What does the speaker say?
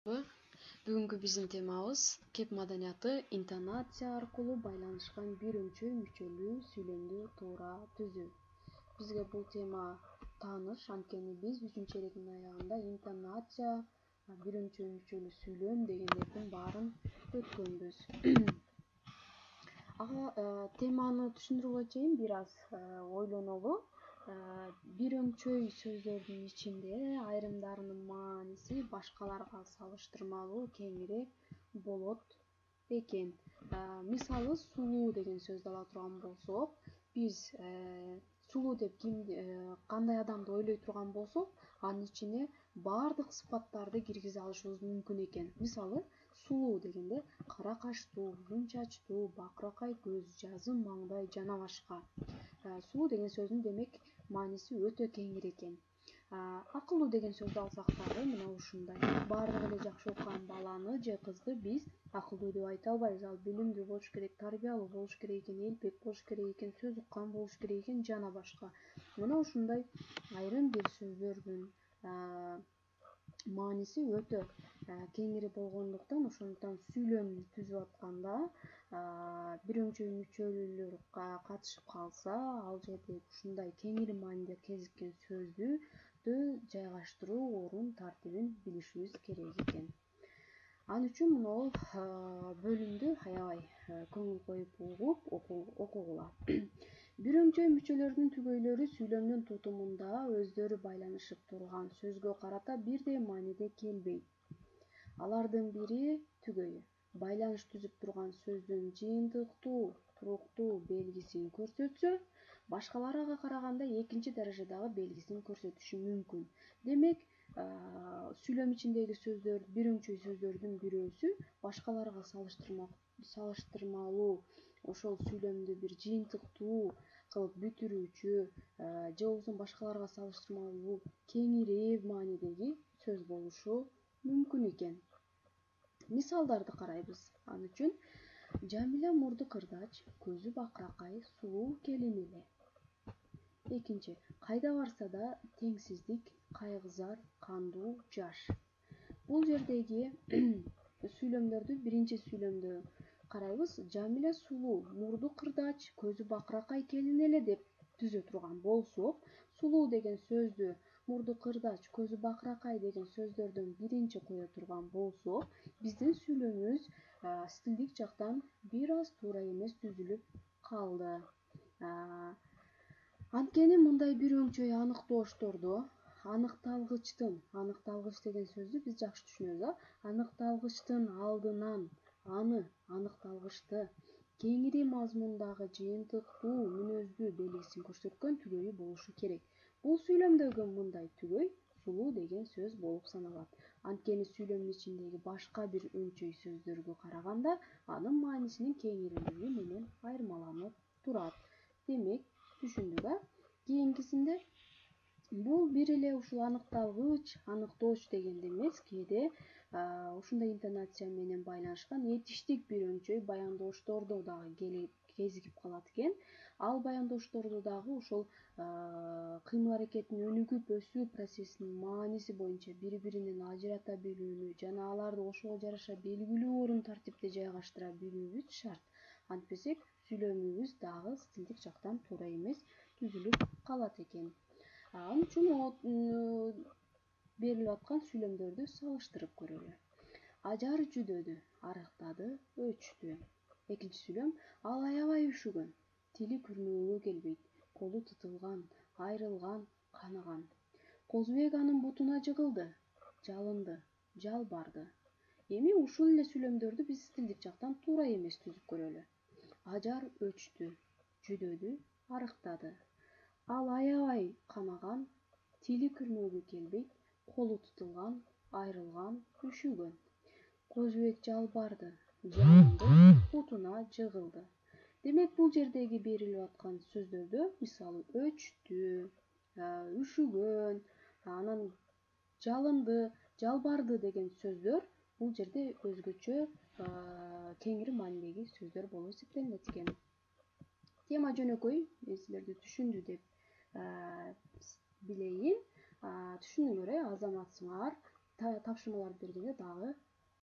Бүгүнкү биздин темабыз кеп маданияты интонация аркылуу байланышкан бир өңчөй мүчөлүү сүйлөмдү туура түзүү. Бизге бул тема тааныш, анткени биз 3-черегиндин аягында интонация, бир өңчөй мүчөлүү сүйлөм дегендердин баарын өткөнбүз. Ага теманы түшүндүрүүгө чейин бир аз ойлонолу. Бир өңчөй сөздөрдүн ичинде айрымдарынын мааниси башкаларга салыштырмалуу кеңири болот экен. Мисалы, сулуу деген сөздү ала турган болсок, биз сулуу деп кандай адамды ойлой турган болсок, анын ичине баардык сыпаттарды киргизе алышыбыз мүмкүн экен. Мисалы, сулуу дегенде кара качтуу, узун чачтуу, бакыракай көз, жазым маңдай жана башка. Сулуу деген сөздүн демек мааниси өтө кеңир экен. Акылдуу деген сөздү алсак дагы мына ушундай. Баардыгы эле жакшы окуган баланы же кызды биз акылдуу деп айта албайбыз. Ал билимдүү болуш керек, тарбиялуу болуш керек экен, элпек болуш керек экен, сөз уккан болуш керек экен жана башка. Мына ушундай айрым бир сөздөрдүн мааниси өтө кеңири болгондуктан, ошондуктан сүйлөм түзүп атканда бир өңчөй мүчөлүүлөр катышып калса, ал жерде ушундай кеңири мааниде кезиккен сөздү жайгаштыруу орун тартибин билишибиз керек экен. Ал үчүн могул бөлүмдү аябай көңүл коюп угуп окугула. Бир өңчөй мүчөлөрдүн түгөйлөрү сүйлөмдүн тутумунда өздөрү байланышып турган сөзгө карата бирдей мааниде келбейт. Алардын бири түгөйү байланыш түзүп турган сөздүн жыйынтыктуу, туруктуу белгисин көрсөтсө, башкалары ага караганда экинчи даражадагы белгисин көрсөтүшү мүмкүн. Демек, сүйлөм ичиндеги сөздөр, бир өңчөй сөздөрдүн бирөөсү башкаларга салыштырмалуу ошол сүйлөмдү бир жыйынтыктуу кылып бүтүрүүчү же болбосо башкаларга салыштырмалуу кеңири маанидеги сөз болушу мүмкүн экен. Мисалдарды карайбыз. Ал үчүн Жамиля мурду кырдач, көзү бакыракай, сулуу келин эле. Экинчи, кайда барса да теңсиздик, кайгызар, кандуу, жаш. Бул жердеги сүйлөмдөрдү, биринчи сүйлөмдү карайбыз. Жамиля сулуу, мурду кырдач, көзү бакыракай келин эле деп түзө турган болсок, сулуу деген сөздү мурду кырдач, көзү бакыракай деген сөздөрдөн биринчи кое турган болсок, биздин сүйлөмүбүз стилдик жактан бир аз туура эмес түзүлүп калды. Анткени мындай бир өңчөй аныктооштордо аныкталгыч деген сөздү биз жакшы түшүнөбүз. Аныкталгычтын алдынан аныкталгычты кеңири мазмундагы жыйынтыктуу мүнөздүү белгисин көрсөткөн түгөйү болушу керек. Бул сүйлөмдөгү мындай түгөй сулуу деген сөз болуп саналат. Анткени сүйлөмдүн ичиндеги башка бир өңчөй сөздөргө караганда анын маанисинин кеңирилиги менен айырмаланып турат. Демек, түшүндүк, Кийинкисинде бул бир эле ушул аныкталгыч, аныктооч дегенде эмес, кээде ушундай интонация менен байланышкан этиштик бир өңчөй баяндооштордо дагы кезигип калат экен. Ал баяндоошторду дагы ошол кыймыл аракеттин өнүгүп өсүү процессинин мааниси боюнча бири-биринен ажырата билүүнү жана аларды ошого жараша белгилүү орун тартипте жайгаштыра билүүбүз шарт. Антпесек, сүйлөмүбүз дагы стилдик жактан туура эмес түзүлүп калат экен. Ал үчүн берилип аткан сүйлөмдөрдү салыштырып көрөлү. Ажар жүдөдү, арыктады, өчтү. Экинчи сүйлөм: ал аябай үшүгөн, тили күрмөөгө келбейт, колу тытылган, айрылган, канаган. Козубек анын бутуна жыгылды, жалынды, жалбарды. Эми ушул эле сүйлөмдөрдү биз стилдик жактан туура эмес түзүп көрөлү. Ажар өчтү, жүдөдү, арыктады. Ал аябай канаган, тили күрмөөгө келбейт, колу тытылган, айрылган, үшүгөн. Козубек жалбарды, жалынды, бутуна жыгылды. Демек, бул жердеги берилип аткан сөздөрдө, мисалы, өчтү, үшүгөн, анан жалынды, жалбарды деген сөздөр бул жерде өзгөчө кеңири маанидеги сөздөр болуп эсептелинет экен. Тема жөнөкөй, мен силерди түшүндү деп билейин. Түшүндүңөр, азаматсыңар. тапшырмаларды бергенде дагы